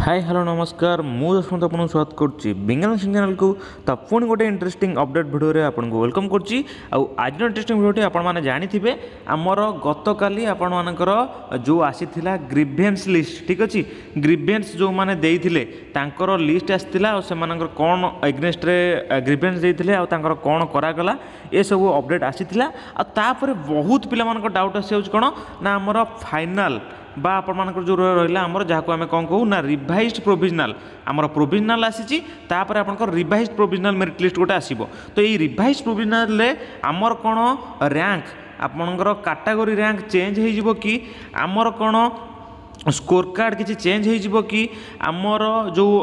High, hello, ନମସ୍କାର। ମୁଁ ଯଶବନ୍ତ ଆପଣଙ୍କୁ ସ୍ୱାଗତ କରୁଛି ବିଜ୍ଞାନ ସିଂ ଚ୍ୟାନେଲକୁ। ତ ପୁଣି ଗୋଟେ ଇଣ୍ଟରେଷ୍ଟିଂ ଅପଡେଟ୍ ଭିଡ଼ିଓରେ ଆପଣଙ୍କୁ welcome କରୁଛି। ଆଉ ଆଜିର ଇଣ୍ଟରେଷ୍ଟିଂ ଭିଡ଼ିଓଟି, ଆପଣମାନେ ଜାଣିଥିବେ, ଆମର ଗତକାଲି ଆପଣମାନଙ୍କର ଯେଉଁ ଆସିଥିଲା ଗ୍ରିଭେନ୍ସ ଲିଷ୍ଟ, ଠିକ୍ ଅଛି, ଗ୍ରିଭେନ୍ସ ଯେଉଁମାନେ ଦେଇଥିଲେ ତାଙ୍କର ଲିଷ୍ଟ ଆସିଥିଲା। ଆଉ ସେମାନଙ୍କର କ'ଣ ଏଗନେଷ୍ଟରେ ଗ୍ରିଭେନ୍ସ ଦେଇଥିଲେ ଆଉ ତାଙ୍କର କ'ଣ କରାଗଲା, ଏସବୁ ଅପଡେଟ୍ ଆସିଥିଲା। ଆଉ ତାପରେ ବହୁତ ପିଲାମାନଙ୍କ ଡାଉଟ୍ ଆସିଯାଉଛି କ'ଣ ନା ଆମର ଫାଇନାଲ୍ ବା ଆପଣମାନଙ୍କର ଯେଉଁ ରହିଲା ଆମର, ଯାହାକୁ ଆମେ କ'ଣ କହୁ ନା ରିଭାଇଜ୍ଡ ପ୍ରୋଭିଜନାଲ୍। ଆମର ପ୍ରୋଭିଜନାଲ୍ ଆସିଛି, ତାପରେ ଆପଣଙ୍କର ରିଭାଇଜ୍ଡ ପ୍ରୋଭିଜନାଲ୍ ମେରିଟ୍ ଲିଷ୍ଟ ଗୋଟେ ଆସିବ। ତ ଏଇ ରିଭାଇଜ୍ଡ ପ୍ରୋଭିଜନାଲ୍ରେ ଆମର କ'ଣ ର୍ୟାଙ୍କ, ଆପଣଙ୍କର କାଟାଗୋରୀ ର୍ୟାଙ୍କ ଚେଞ୍ଜ ହେଇଯିବ କି, ଆମର କ'ଣ ସ୍କୋର କାର୍ଡ଼ କିଛି ଚେଞ୍ଜ ହେଇଯିବ କି, ଆମର ଯେଉଁ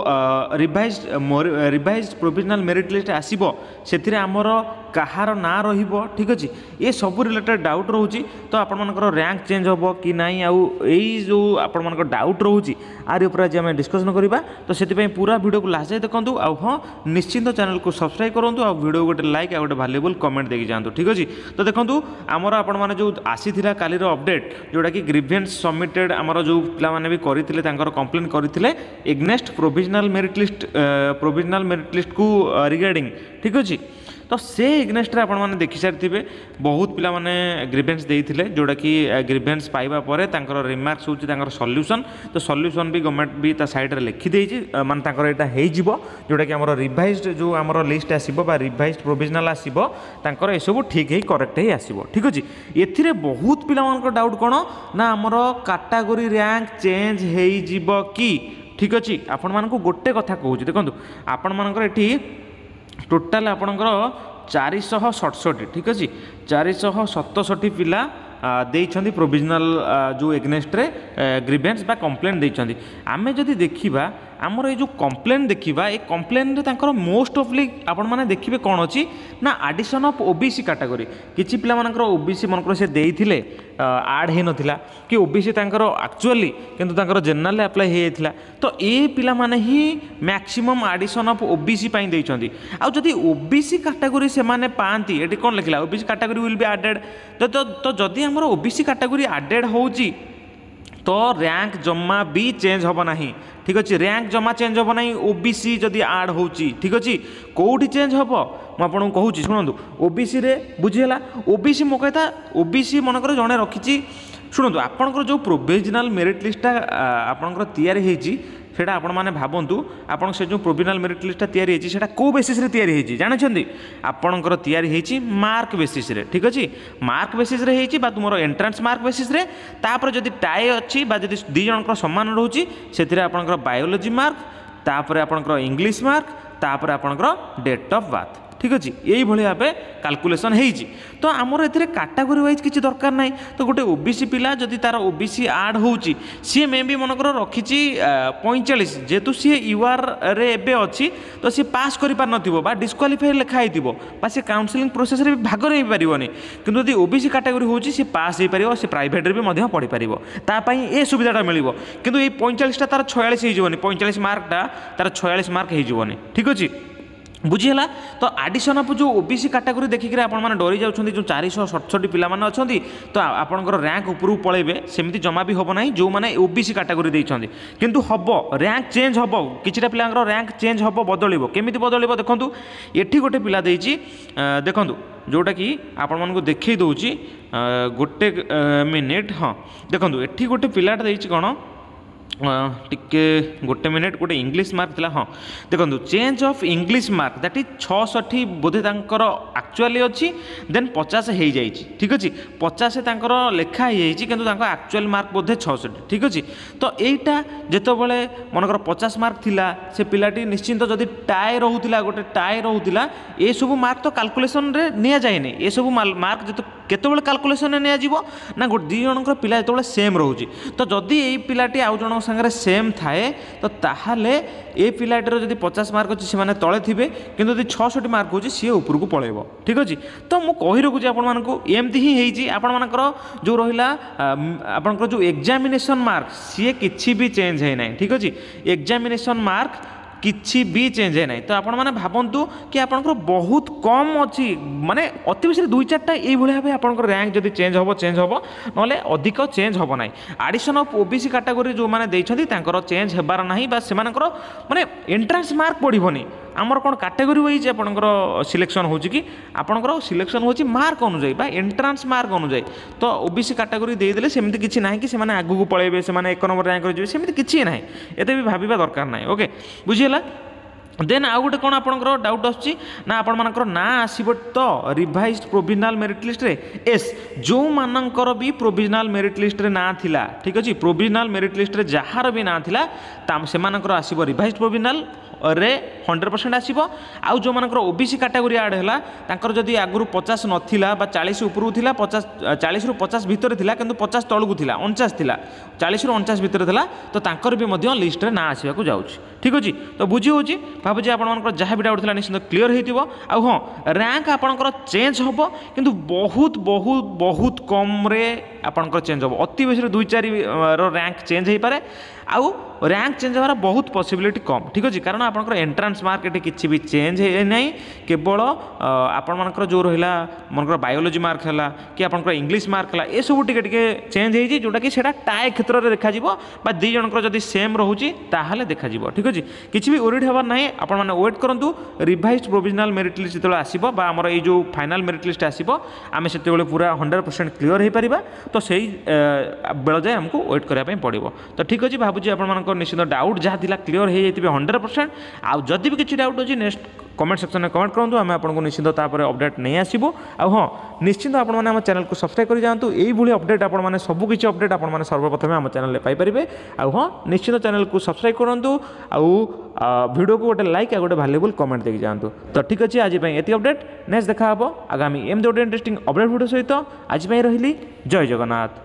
ରିଭାଇଜ୍ ପ୍ରୋଭିଜନାଲ୍ ମେରିଟ୍ ଲିଷ୍ଟ ଆସିବ ସେଥିରେ ଆମର କାହାର ନାଁ ରହିବ, ଠିକ୍ ଅଛି, ଏ ସବୁ ରିଲେଟେଡ଼ ଡାଉଟ୍ ରହୁଛି। ତ ଆପଣମାନଙ୍କର ର୍ୟାଙ୍କ ଚେଞ୍ଜ ହେବ କି ନାହିଁ, ଆଉ ଏଇ ଯେଉଁ ଆପଣମାନଙ୍କ ଡାଉଟ୍ ରହୁଛି, ୟାରି ଉପରେ ଆଜି ଆମେ ଡିସ୍କସନ୍ କରିବା। ତ ସେଥିପାଇଁ ପୁରା ଭିଡ଼ିଓକୁ ଲାଷ୍ଟ ଯାଏ ଦେଖନ୍ତୁ। ଆଉ ହଁ, ନିଶ୍ଚିନ୍ତ ଚ୍ୟାନେଲକୁ ସବସ୍କ୍ରାଇବ୍ କରନ୍ତୁ ଆଉ ଭିଡ଼ିଓ ଗୋଟେ ଲାଇକ୍ ଆଉ ଗୋଟେ ଭାଲ୍ୟୁବୁଲ୍ କମେଣ୍ଟ ଦେଇକି ଯାଆନ୍ତୁ, ଠିକ୍ ଅଛି। ତ ଦେଖନ୍ତୁ, ଆମର ଆପଣମାନେ ଯେଉଁ ଆସିଥିଲା କାଲିର ଅପଡେଟ୍, ଯେଉଁଟାକି ଗ୍ରିଭେନ୍ସ ସବମିଟେଡ଼, ଆମର ଯେଉଁ ପିଲାମାନେ ବି କରିଥିଲେ, ତାଙ୍କର କମ୍ପ୍ଲେନ୍ କରିଥିଲେ against provisional merit list, provisional merit ଲିଷ୍ଟକୁ ରିଗାର୍ଡ଼ିଂ, ଠିକ୍ ଅଛି। ତ ସେ ଏଗନେଷ୍ଟରେ ଆପଣମାନେ ଦେଖିସାରିଥିବେ, ବହୁତ ପିଲାମାନେ ଗ୍ରିଭେନ୍ସ ଦେଇଥିଲେ, ଯେଉଁଟାକି ଗ୍ରିଭେନ୍ସ ପାଇବା ପରେ ତାଙ୍କର ରିମାର୍କସ୍ ହେଉଛି ତାଙ୍କର ସଲ୍ୟୁସନ୍। ତ ସଲ୍ୟୁସନ୍ ବି ଗଭର୍ଣ୍ଣମେଣ୍ଟ ବି ତା ସାଇଡ଼୍ରେ ଲେଖିଦେଇଛି, ମାନେ ତାଙ୍କର ଏଇଟା ହେଇଯିବ, ଯେଉଁଟାକି ଆମର ରିଭାଇଜ୍ଡ ଯେଉଁ ଆମର ଲିଷ୍ଟ ଆସିବ ବା ରିଭାଇଜ୍ଡ ପ୍ରୋଭିଜନାଲ୍ ଆସିବ, ତାଙ୍କର ଏସବୁ ଠିକ୍ ହେଇ, କରେକ୍ଟ ହେଇ ଆସିବ, ଠିକ୍ ଅଛି। ଏଥିରେ ବହୁତ ପିଲାମାନଙ୍କର ଡାଉଟ୍ କ'ଣ ନା ଆମର କାଟାଗୋରୀ ର୍ୟାଙ୍କ ଚେଞ୍ଜ ହେଇଯିବ କି? ଠିକ୍ ଅଛି, ଆପଣମାନଙ୍କୁ ଗୋଟେ କଥା କହୁଛି, ଦେଖନ୍ତୁ, ଆପଣମାନଙ୍କର ଏଠି ଟୋଟାଲ୍ ଆପଣଙ୍କର 467, ଠିକ୍ ଅଛି, 467 ପିଲା ଦେଇଛନ୍ତି ପ୍ରୋଭିଜନାଲ୍ ଯେଉଁ ଏଗନେଷ୍ଟରେ ଗ୍ରିଭେନ୍ସ ବା କମ୍ପ୍ଲେନ୍ ଦେଇଛନ୍ତି। ଆମେ ଯଦି ଦେଖିବା, ଆମର ଏଇ ଯେଉଁ କମ୍ପ୍ଲେନ୍ ଦେଖିବା, ଏ କମ୍ପ୍ଲେନ୍ରେ ତାଙ୍କର ମୋଷ୍ଟ ଅଫଲି ଆପଣମାନେ ଦେଖିବେ କ'ଣ ଅଛି ନା ଆଡ଼ିସନ୍ ଅଫ୍ ଓବିସି କାଟାଗୋରୀ। କିଛି ପିଲାମାନଙ୍କର ଓବିସି ମନେକର ସେ ଦେଇଥିଲେ, ଆଡ଼୍ ହେଇନଥିଲା, କି ଓବିସି ତାଙ୍କର ଆକ୍ଚୁଆଲି କିନ୍ତୁ ତାଙ୍କର ଜେନେରାଲରେ ଆପ୍ଲାଏ ହେଇଯାଇଥିଲା। ତ ଏ ପିଲାମାନେ ହିଁ ମ୍ୟାକ୍ସିମମ୍ ଆଡ଼ିସନ୍ ଅଫ୍ ଓବିସି ପାଇଁ ଦେଇଛନ୍ତି। ଆଉ ଯଦି ଓବିସି କାଟାଗୋରୀ ସେମାନେ ପାଆନ୍ତି, ଏଠି କ'ଣ ଲେଖିଲା? OBC category will be added। ତ ଯଦି ଆମର ଓବିସି କାଟାଗୋରୀ ଆଡେଡ଼ ହେଉଛି, ତ ର୍ୟାଙ୍କ ଜମା ବି ଚେଞ୍ଜ ହେବ ନାହିଁ, ଠିକ୍ ଅଛି। ର୍ୟାଙ୍କ ଜମା ଚେଞ୍ଜ ହେବ ନାହିଁ ଓବିସି ଯଦି ଆଡ଼୍ ହେଉଛି, ଠିକ୍ ଅଛି। କେଉଁଠି ଚେଞ୍ଜ ହେବ, ମୁଁ ଆପଣଙ୍କୁ କହୁଛି, ଶୁଣନ୍ତୁ। ଓବିସିରେ ବୁଝିହେଲା? ଓବିସି ମୋ କଥା, ଓବିସି ମନେକର ଜଣେ ରଖିଛି। ଶୁଣନ୍ତୁ, ଆପଣଙ୍କର ଯେଉଁ ପ୍ରୋଭିଜନାଲ୍ ମେରିଟ୍ ଲିଷ୍ଟଟା ଆପଣଙ୍କର ତିଆରି ହେଇଛି, ସେଇଟା ଆପଣମାନେ ଭାବନ୍ତୁ, ଆପଣ ସେ ଯେଉଁ ପ୍ରୋଭିଜନାଲ୍ ମେରିଟ୍ ଲିଷ୍ଟଟା ତିଆରି ହେଇଛି, ସେଇଟା କେଉଁ ବେସିସ୍ରେ ତିଆରି ହେଇଛି ଜାଣିଛନ୍ତି? ଆପଣଙ୍କର ତିଆରି ହେଇଛି ମାର୍କ ବେସିସ୍ରେ, ଠିକ୍ ଅଛି। ମାର୍କ ବେସିସ୍ରେ ହେଇଛି ବା ତୁମର ଏଣ୍ଟ୍ରାନ୍ସ ମାର୍କ ବେସିସ୍ରେ। ତାପରେ ଯଦି ଟାଏ ଅଛି ବା ଯଦି ଦୁଇ ଜଣଙ୍କର ସମାନ ରହୁଛି, ସେଥିରେ ଆପଣଙ୍କର ବାୟୋଲୋଜି ମାର୍କ, ତାପରେ ଆପଣଙ୍କର ଇଂଲିଶ ମାର୍କ, ତାପରେ ଆପଣଙ୍କର ଡେଟ୍ ଅଫ୍ ବାର୍ଥ, ଠିକ୍ ଅଛି। ଏଇଭଳି ଭାବେ କାଲକୁଲେସନ୍ ହେଇଛି। ତ ଆମର ଏଥିରେ କାଟାଗୋରୀ ୱାଇଜ୍ କିଛି ଦରକାର ନାହିଁ। ତ ଗୋଟେ ଓବିସି ପିଲା ଯଦି ତାର ଓବିସି ଆଡ଼୍ ହେଉଛି, ସିଏ ମେ ବି ମନେକର ରଖିଛି 45, ଯେହେତୁ ସିଏ ୟୁଆର୍ରେ ଏବେ ଅଛି, ତ ସିଏ ପାସ୍ କରିପାରିନଥିବ ବା ଡିସ୍କ୍ୱାଲିଫାଇ ଲେଖା ହେଇଥିବ ବା ସେ କାଉନସିଲିଂ ପ୍ରୋସେସ୍ରେ ବି ଭାଗ ନେଇପାରିବନି। କିନ୍ତୁ ଯଦି ଓବିସି କାଟାଗୋରୀ ହେଉଛି, ସିଏ ପାସ୍ ହେଇପାରିବ, ସେ ପ୍ରାଇଭେଟ୍ରେ ବି ମଧ୍ୟ ପଢ଼ିପାରିବ, ତା ପାଇଁ ଏ ସୁବିଧାଟା ମିଳିବ। କିନ୍ତୁ ଏଇ 45ଟା ତାର 46 ହେଇଯିବନି, 45 ମାର୍କଟା ତାର 46 ମାର୍କ ହେଇଯିବନି, ଠିକ୍ ଅଛି। ବୁଝିହେଲା? ତ ଆଡ଼ିସନ୍ ଅଫ୍ ଯେଉଁ ଓବିସି କାଟାଗୋରୀ ଦେଖିକିରି ଆପଣମାନେ ଡରି ଯାଉଛନ୍ତି, ଯେଉଁ 467 ପିଲାମାନେ ଅଛନ୍ତି, ତ ଆପଣଙ୍କର ର୍ୟାଙ୍କ ଉପରକୁ ପଳେଇବେ, ସେମିତି ଜମା ବି ହେବ ନାହିଁ ଯେଉଁମାନେ ଓବିସି କାଟାଗୋରୀ ଦେଇଛନ୍ତି। କିନ୍ତୁ ହେବ, ର୍ୟାଙ୍କ ଚେଞ୍ଜ ହେବ, କିଛିଟା ପିଲାଙ୍କର ର୍ୟାଙ୍କ ଚେଞ୍ଜ ହେବ, ବଦଳିବ। କେମିତି ବଦଳିବ ଦେଖନ୍ତୁ, ଏଠି ଗୋଟେ ପିଲା ଦେଇଛି, ଦେଖନ୍ତୁ, ଯେଉଁଟାକି ଆପଣମାନଙ୍କୁ ଦେଖେଇ ଦେଉଛି, ଗୋଟେ ମିନିଟ୍। ହଁ, ଦେଖନ୍ତୁ, ଏଠି ଗୋଟେ ପିଲାଟା ଦେଇଛି କ'ଣ, ଟିକେ ଗୋଟେ ମିନିଟ୍, ଗୋଟେ ଇଂଲିଶ ମାର୍କ ଥିଲା। ହଁ, ଦେଖନ୍ତୁ, change of English mark, that is 66 ବୋଧେ ତାଙ୍କର ଆକ୍ଚୁଆଲି ଅଛି, ଦେନ୍ 50 ହେଇଯାଇଛି, ଠିକ୍ ଅଛି। 50 ତାଙ୍କର ଲେଖା ହେଇଯାଇଛି, କିନ୍ତୁ ତାଙ୍କ ଆକ୍ଚୁଆଲି ମାର୍କ ବୋଧେ 66, ଠିକ୍ ଅଛି। ତ ଏଇଟା ଯେତେବେଳେ ମନେକର 50 ମାର୍କ ଥିଲା, ସେ ପିଲାଟି ନିଶ୍ଚିନ୍ତ ଯଦି ଟାଏ ରହୁଥିଲା, ଗୋଟେ ଟାଏ ରହୁଥିଲା, ଏସବୁ ମାର୍କ ତ କାଲକୁଲେସନରେ ନିଆଯାଏନି। ଏସବୁ ମାର୍କ ଯେତେ କେତେବେଳେ କାଲକୁଲେସନରେ ନିଆଯିବ ନା ଗୋଟେ ଦୁଇ ଜଣଙ୍କର ପିଲା ଯେତେବେଳେ ସେମ୍ ରହୁଛି। ତ ଯଦି ଏଇ ପିଲାଟି ଆଉ ଜଣଙ୍କ ସାଙ୍ଗରେ ସେମ୍ ଥାଏ, ତ ତାହେଲେ ଏ ପିଲାଟିର ଯଦି 50 ମାର୍କ ଅଛି, ସେମାନେ ତଳେ ଥିବେ, କିନ୍ତୁ ଯଦି 66 ମାର୍କ ହେଉଛି, ସିଏ ଉପରକୁ ପଳେଇବ, ଠିକ୍ ଅଛି। ତ ମୁଁ କହି ରଖୁଛି ଆପଣମାନଙ୍କୁ, ଏମିତି ହିଁ ହେଇଛି। ଆପଣମାନଙ୍କର ଯେଉଁ ରହିଲା ଆପଣଙ୍କର ଯେଉଁ ଏକ୍ଜାମିନେସନ୍ ମାର୍କ, ସିଏ କିଛି ବି ଚେଞ୍ଜ ହେଇନାହିଁ, ଠିକ୍ ଅଛି। ଏକ୍ଜାମିନେସନ୍ ମାର୍କ କିଛି ବି ଚେଞ୍ଜ ହେଇନାହିଁ। ତ ଆପଣମାନେ ଭାବନ୍ତୁ କି ଆପଣଙ୍କର ବହୁତ କମ୍ ଅଛି, ମାନେ ଅତି ବେଶୀରେ ଦୁଇ ଚାରିଟା ଏଇଭଳି ଭାବେ ଆପଣଙ୍କର ର୍ୟାଙ୍କ ଯଦି ଚେଞ୍ଜ ହେବ ଚେଞ୍ଜ ହେବ, ନହେଲେ ଅଧିକ ଚେଞ୍ଜ ହେବ ନାହିଁ। ଆଡ଼ିସନ୍ ଅଫ୍ ଓବିସି କାଟାଗୋରୀ ଯେଉଁମାନେ ଦେଇଛନ୍ତି ତାଙ୍କର ଚେଞ୍ଜ ହେବାର ନାହିଁ, ବା ସେମାନଙ୍କର ମାନେ ଏଣ୍ଟ୍ରାନ୍ସ ମାର୍କ ବଢ଼ିବନି। ଆମର କ'ଣ କାଟେଗୋରୀ ୱାଇଜ୍ ଆପଣଙ୍କର ସିଲେକ୍ସନ୍ ହେଉଛି କି? ଆପଣଙ୍କର ସିଲେକ୍ସନ୍ ହେଉଛି ମାର୍କ ଅନୁଯାୟୀ ବା ଏଣ୍ଟ୍ରାନ୍ସ ମାର୍କ ଅନୁଯାୟୀ। ତ ଓବିସି କାଟାଗୋରୀ ଦେଇଦେଲେ ସେମିତି କିଛି ନାହିଁ କି ସେମାନେ ଆଗକୁ ପଳେଇବେ, ସେମାନେ 1 ନମ୍ବର ର୍ୟାଙ୍କରେ ଯିବେ, ସେମିତି କିଛି ନାହିଁ। ଏତେ ବି ଭାବିବା ଦରକାର ନାହିଁ। ଓକେ, ବୁଝିହେଲା? ଦେନ୍ ଆଉ ଗୋଟେ କ'ଣ ଆପଣଙ୍କର ଡାଉଟ୍ ଆସୁଛି ନା ଆପଣମାନଙ୍କର ନାଁ ଆସିବ ତ ରିଭାଇଜ୍ ପ୍ରୋଭିଜନାଲ୍ ମେରିଟ୍ ଲିଷ୍ଟରେ? ଏସ୍, ଯେଉଁମାନଙ୍କର ବି ପ୍ରୋଭିଜନାଲ୍ ମେରିଟ୍ ଲିଷ୍ଟରେ ନାଁ ଥିଲା, ଠିକ୍ ଅଛି, ପ୍ରୋଭିଜନାଲ୍ ମେରିଟ୍ ଲିଷ୍ଟରେ ଯାହାର ବି ନାଁ ଥିଲା ସେମାନଙ୍କର ଆସିବ, ରିଭାଇଜ୍ ପ୍ରୋଭିଜନାଲ୍ ରେ 100% ଆସିବ। ଆଉ ଯେଉଁମାନଙ୍କର ଓ ବି ସି କାଟାଗୋରୀ ଆଡ଼୍ ହେଲା, ତାଙ୍କର ଯଦି ଆଗରୁ 50 ନଥିଲା ବା 40 ଉପରକୁ ଥିଲା, 50, 40ରୁ 50 ଭିତରେ ଥିଲା, କିନ୍ତୁ 50 ତଳକୁ ଥିଲା, 49 ଥିଲା, 40ରୁ 49 ଭିତରେ ଥିଲା, ତ ତାଙ୍କର ବି ମଧ୍ୟ ଲିଷ୍ଟରେ ନାଁ ଆସିବାକୁ ଯାଉଛି। ଠିକ୍ ଅଛି, ତ ବୁଝି ହେଉଛି? ଭାବୁଛି ଆପଣମାନଙ୍କର ଯାହା ବି ଡାଉଟ୍ ଥିଲା ନିଶ୍ଚିନ୍ତ କ୍ଲିଅର୍ ହେଇଥିବ। ଆଉ ହଁ, ର୍ୟାଙ୍କ ଆପଣଙ୍କର ଚେଞ୍ଜ ହେବ, କିନ୍ତୁ ବହୁତ ବହୁତ ବହୁତ କମ୍ରେ ଆପଣଙ୍କର ଚେଞ୍ଜ ହେବ। ଅତି ବେଶୀରେ 2 4ର ର୍ୟାଙ୍କ ଚେଞ୍ଜ ହେଇପାରେ, ଆଉ ର୍ୟାଙ୍କ ଚେଞ୍ଜ ହେବାର ବହୁତ ପସିବିଲିଟି କମ୍। ଠିକ୍ ଅଛି, କାରଣ ଆପଣଙ୍କର ଏଣ୍ଟ୍ରାନ୍ସ ମାର୍କ ଏଠି କିଛି ବି ଚେଞ୍ଜ ହେଇନାହିଁ। କେବଳ ଆପଣମାନଙ୍କର ଯେଉଁ ରହିଲା ମନେକର ବାୟୋଲୋଜି ମାର୍କ ହେଲା କି ଆପଣଙ୍କର ଇଂଲିଶ ମାର୍କ ହେଲା, ଏସବୁ ଟିକେ ଟିକେ ଚେଞ୍ଜ ହେଇଛି, ଯେଉଁଟାକି ସେଇଟା ଟାଏ କ୍ଷେତ୍ରରେ ଦେଖାଯିବ, ବା 2 ଜଣଙ୍କର ଯଦି ସେମ୍ ରହୁଛି ତାହେଲେ ଦେଖାଯିବ। ଠିକ୍ ଅଛି, କିଛି ବି ୱରିଡ୍ ହେବାର ନାହିଁ। ଆପଣମାନେ ୱେଟ୍ କରନ୍ତୁ, ରିଭାଇଜ୍ ପ୍ରୋଭିଜନାଲ୍ ମେରିଟ୍ ଲିଷ୍ଟ ଯେତେବେଳେ ଆସିବ ବା ଆମର ଏଇ ଯେଉଁ ଫାଇନାଲ୍ ମେରିଟ୍ ଲିଷ୍ଟ ଆସିବ, ଆମେ ସେତେବେଳେ ପୁରା 100% କ୍ଲିଅର୍ ହେଇପାରିବା। ତ ସେଇ ବେଳ ଯାଏ ଆମକୁ ୱେଟ୍ କରିବା ପାଇଁ ପଡ଼ିବ। ତ ଠିକ୍ ଅଛି, ଭାବୁଛି ଆପଣମାନଙ୍କ ନିଶ୍ଚିନ୍ତ ଡାଉଟ୍ ଯାହା ଥିଲା କ୍ଲିଅର୍ ହେଇଯାଇଥିବେ 100%। ଆଉ ଯଦି ବି କିଛି ଡାଉଟ୍ ଅଛି, ନେକ୍ସଟ କମେଣ୍ଟ ସେକ୍ସନରେ କମେଣ୍ଟ କରନ୍ତୁ, ଆମେ ଆପଣଙ୍କୁ ନିଶ୍ଚିନ୍ତ ତାପରେ ଅପଡ଼େଟ୍ ନେଇ ଆସିବୁ। ଆଉ ହଁ, ନିଶ୍ଚିନ୍ତ ଆପଣମାନେ ଆମ ଚ୍ୟାନେଲକୁ ସବସ୍କ୍ରାଇବ୍ କରି ଯାଆନ୍ତୁ। ଏଇଭଳି ଅପଡ଼େଟ୍ ଆପଣମାନେ ସବୁକିଛି ଅପଡ଼େଟ୍ ଆପଣମାନେ ସର୍ବପ୍ରଥମେ ଆମ ଚ୍ୟାନେଲରେ ପାଇପାରିବେ। ଆଉ ହଁ, ନିଶ୍ଚିନ୍ତ ଚ୍ୟାନେଲକୁ ସବସ୍କ୍ରାଇବ୍ କରନ୍ତୁ ଆଉ ଭିଡ଼ିଓକୁ ଗୋଟେ ଲାଇକ୍ ଆଉ ଗୋଟେ ଭାଲ୍ୟୁବୁଲ୍ କମେଣ୍ଟ ଦେଇକି ଯାଆନ୍ତୁ। ତ ଠିକ୍ ଅଛି, ଆଜି ପାଇଁ ଏତିକି ଅପଡ଼େଟ୍। ନେକ୍ସଟ ଦେଖା ହେବ ଆଗାମୀ ଏମିତି ଗୋଟେ ଇଣ୍ଟରେଷ୍ଟିଂ ଅପଡ଼େଟ୍ ଭିଡ଼ିଓ ସହିତ। ଆଜି ପାଇଁ ରହିଲି, ଜୟ ଜଗନ୍ନାଥ।